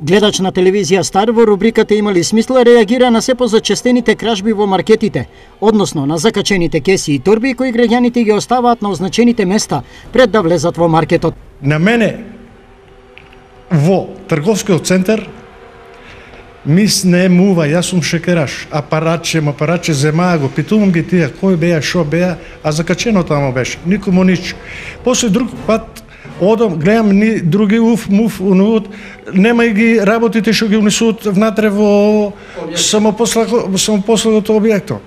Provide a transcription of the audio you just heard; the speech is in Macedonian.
Гледач на телевизија Стар во рубриката Имали смисла реагира на се позачестените кражби во маркетите, односно на закачените кеси и торби кои граѓаните ги оставаат на означените места пред да влезат во маркетот. На мене во трговскиот центар ми снемува, јас сум шекераш, апаратче земаа го, питувам ги тие, кој беа, шо беа, а закачено тамо беше, никому нич. После друг пат одам, гледам ни други муф, унуот, нема и ги работите што ги унесуваат внатре во самопослагото објекто.